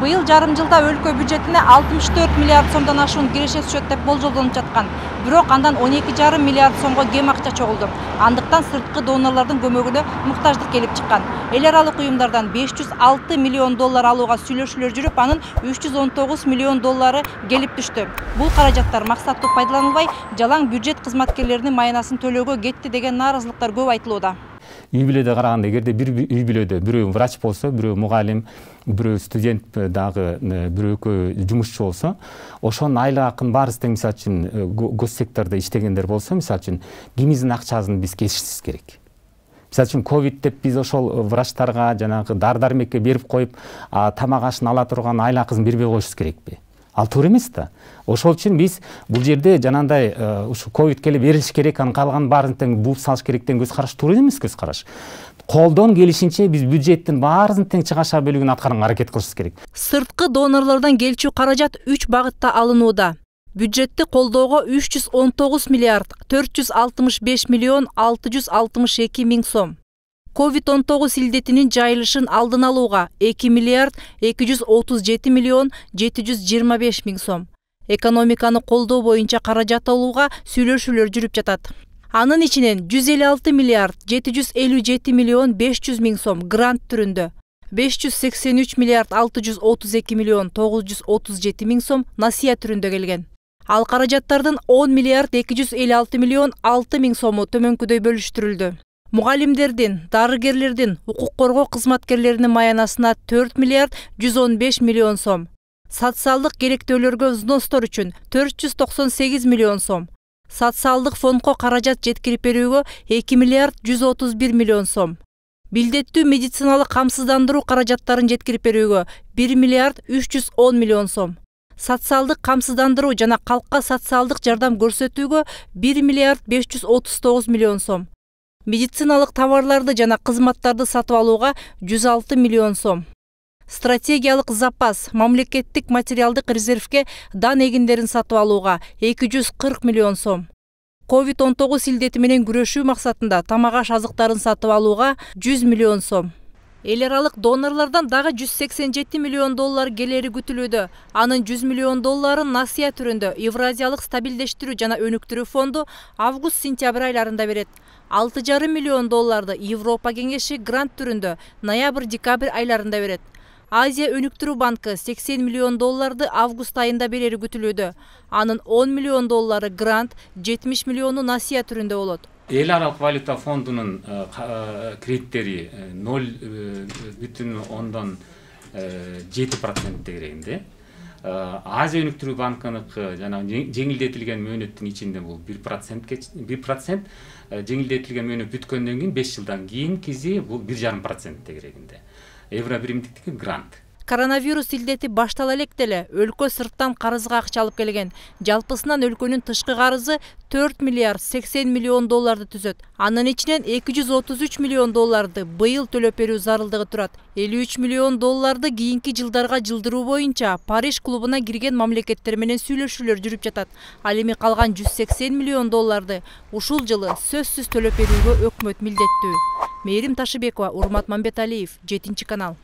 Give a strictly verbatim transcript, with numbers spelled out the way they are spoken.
Быйыл жарым жылда өлкө бюджетине алтымыш төрт миллиард сомдон ашуун киреше түшөт деп болжолдонуп жаткан. Бирок андан он эки жарым миллиард сомго кем акча чогулду. Андыктан сырткы донорлордун көмөгүнө муктаждык келип чыккан. Эл аралык уюмдардан беш жүз алты миллион доллар алууга сүйлөшүүлөр жүрүп, анын үч жүз он тогуз миллион доллары келип түштү. Бул каражаттар максаттуу пайдаланылбай, жалаң бюджет кызматкерлеринин майнасын төлөөгө кетти деген нааразылыктар көп айтылууда. Үй бүлөдө караганда, эгерде бир үй бүлөдө бирөө врач болсо, бирөө мугалим, бирөө студент дагы бирөө жумушчу болсо, ошонун айлык акын баарыбыз тең, мисалы үчүн гос сектордо иштегендер болсо, мисалы үчүн кимибиздин акчасын биз кесишибиз керек. Мисалы үчүн ковид деп биз ошол врачтарга жанагы дары-дармекке берип коюп, тамак ашын ала турган айлык акысын бербей коюшубуз керекпи? Ал туура эмес да. Ошол үчүн биз бул жерде жанагындай ушу ковид келе берилиш керек, анын калганын баарын тең бууп салыш керек деген көз караш туура эмес көз караш. Колдон келишинче биз бюджеттин баарынын тең чыгаша бөлүгүн аткарганга аракет кылышыбыз керек. Сырткы донорлордон келчү каражат үч багытта алынууда. Бюджетти колдоого үч жүз он тогуз миллиард төрт жүз алтымыш беш миллион алты жүз алтымыш эки миң сом. ковид он тогуз илдетинин жайылышын алдын алууга эки миллиард эки жүз отуз жети миллион жети жүз жыйырма беш миң сом. Экономиканы колдоо боюнча каражат алууга сүйлөшүүлөр жүрүп жатат. Анын ичинен жүз элүү алты миллиард жети жүз элүү жети миллион беш жүз миң сом грант түрүндө, беш жүз сексен үч миллиард алты жүз отуз эки миллион тогуз жүз отуз жети миң сом насыя түрүндө келген. Ал каражаттардын он миллиард эки жүз элүү алты миллион алты миң сому төмөнкүдөй бөлүштүрүлдү. Мугалимдердин, дарыгерлердин, укук коргоо кызматкерлеринин маянасына төрт миллиард жүз он беш миллион сом. Социалдык керектөөлөргө взностор үчүн төрт жүз токсон сегиз миллион сом. Социалдык фондко каражат жеткирип берүүгө эки миллиард жүз отуз бир миллион сом. Билдеттүү медициналык камсыздандыруу каражаттарын жеткирип берүүгө бир миллиард үч жүз он миллион сом. Социалдык камсыздандыруу жана калкка социалдык жардам көрсөтүүгө бир миллиард беш жүз отуз тогуз миллион сом. Медициналык товарларды жана кызматтарды сатып алууга жүз алты миллион сом. Стратегиялык запас, мамлекеттик материалдык резервге дан эгиндерин сатып алууга эки жүз кырк миллион сом. ковид он тогуз илдети менен күрөшүү максатында тамак аш азыктарын сатып алууга жүз миллион сом. Эл аралык донорлордон дагы жүз сексен жети миллион доллар келери күтүлүүдө. Анын жүз миллион долларын насыя түрүндө Евразиялык стабилдештирүү жана өнүктүрүү фонду август-сентябрь айларында берет. алты жарым миллион долларды Европа кеңеши грант түрүндө ноябрь-декабрь айларында берет. Азия өнүктүрүү банкы сексен миллион долларды август айында берери күтүлүүдө. Анын он миллион доллары грант, жетимиш миллиону насыя түрүндө болот. Эл аралык валюта фондунун кредиттери ноль бүтүн ондон жети процент дегенде. Азия өнүктүрүү банкыныкы жана жеңилдетилген мөөнөттүн ичинде бул бир процент бир процент жеңилдетилген мөөнөт бүткөндөн кийин беш жылдан кийин кизи бул бир жарым процент дегенде. Евро биримдиктики грант. Коронавирус илдети баштала элек деле өлкө сырттан карызга акча алып келген. Жалпысынан өлкөнүн тышкы карызы төрт миллиард сексен миллион долларды түзөт. Анын ичинен эки жүз отуз үч миллион долларды быйыл төлөп берүү зарылдыгы турат. элүү үч миллион долларды кийинки жылдарга жылдыруу боюнча Париж клубуна кирген мамлекеттер менен сүйлөшүүлөр жүрүп жатат. Ал эми калган жүз сексен миллион долларды ушул жылы сөзсүз төлөп берүүгө өкмөт милдеттүү. Мээрим Ташыбекова, Урмат Мамбеталиев, жетинчи канал.